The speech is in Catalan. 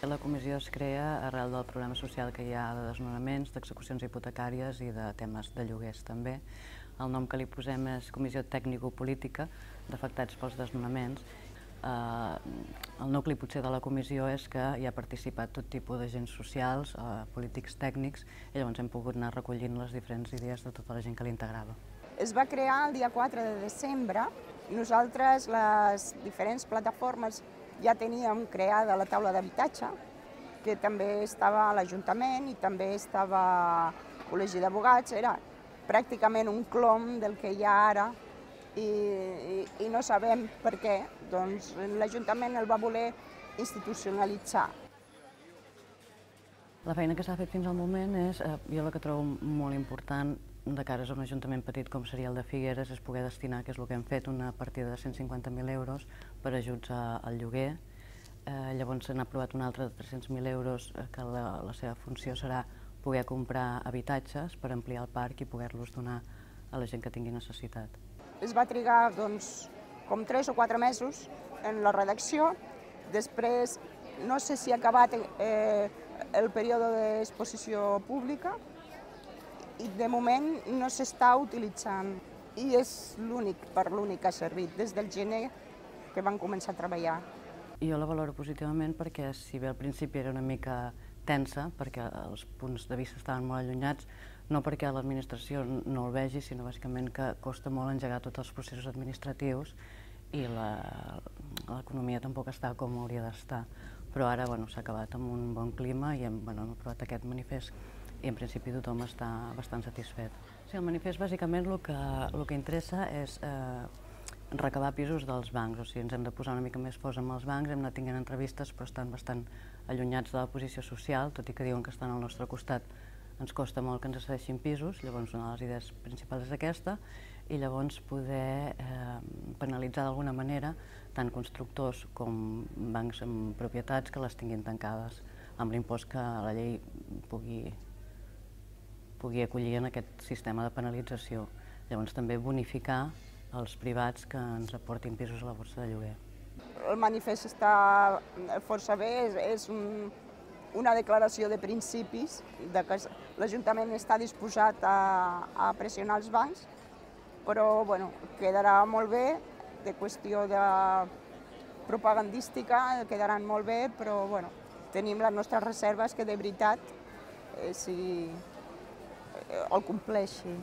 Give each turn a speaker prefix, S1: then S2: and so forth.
S1: la comissió es crea arrel del problema social que hi ha de desnonaments, d'execucions hipotecàries i de temes de lloguers també. El nom que li posem és Comissió Tècnico-Política d'Afectats pels Desnonaments. El nucli potser de la comissió és que hi ha participat tot tipus d'agents socials, polítics, tècnics, i llavors hem pogut anar recollint les diferents idees de tota la gent que l'integrava.
S2: Es va crear el dia 4 de desembre. Nosaltres, les diferents plataformes, ja teníem creada la taula d'habitatge, que també estava a l'Ajuntament i també estava al Col·legi d'Advocats. Era pràcticament un clon del que hi ha ara i no sabem per què. Doncs l'Ajuntament el va voler institucionalitzar.
S1: La feina que s'ha fet fins al moment és, jo la que trobo molt important de cara a un ajuntament petit com seria el de Figueres, és poder destinar, que és el que hem fet, una partida de 150.000 euros per ajuts al lloguer. Llavors se n'ha aprovat una altra de 300.000 euros que la seva funció serà poder comprar habitatges per ampliar el parc i poder-los donar a la gent que tingui necessitat.
S2: Es va trigar com 3 o 4 mesos en la redacció. Després no sé si ha acabat el període d'exposició pública i de moment no s'està utilitzant i és per l'únic que ha servit des del gener que van començar a treballar.
S1: Jo la valoro positivament perquè, si bé al principi era una mica tensa, perquè els punts de vista estaven molt allunyats, no perquè l'administració no el vegi, sinó bàsicament que costa molt engegar tots els processos administratius i l'economia tampoc està com hauria d'estar. Però ara s'ha acabat amb un bon clima i hem aprovat aquest manifest i en principi tothom està bastant satisfet. El manifest bàsicament el que interessa és recabar pisos dels bancs, o sigui, ens hem de posar una mica més forts amb els bancs, hem anat tenint entrevistes però estan bastant allunyats de la posició social, tot i que diuen que estan al nostre costat. Ens costa molt que ens cedeixin pisos, llavors una de les idees principals és aquesta, i llavors poder penalitzar d'alguna manera tant constructors com bancs amb propietats que les tinguin tancades, amb l'impost que la llei pugui acollir en aquest sistema de penalització. Llavors també bonificar els privats que ens aportin pisos a la borsa de lloguer.
S2: El manifest està força bé, és una declaració de principis, que l'Ajuntament està disposat a pressionar els bancs, però quedarà molt bé, de qüestió propagandística quedaran molt bé, però tenim les nostres reserves que de veritat el compleixi.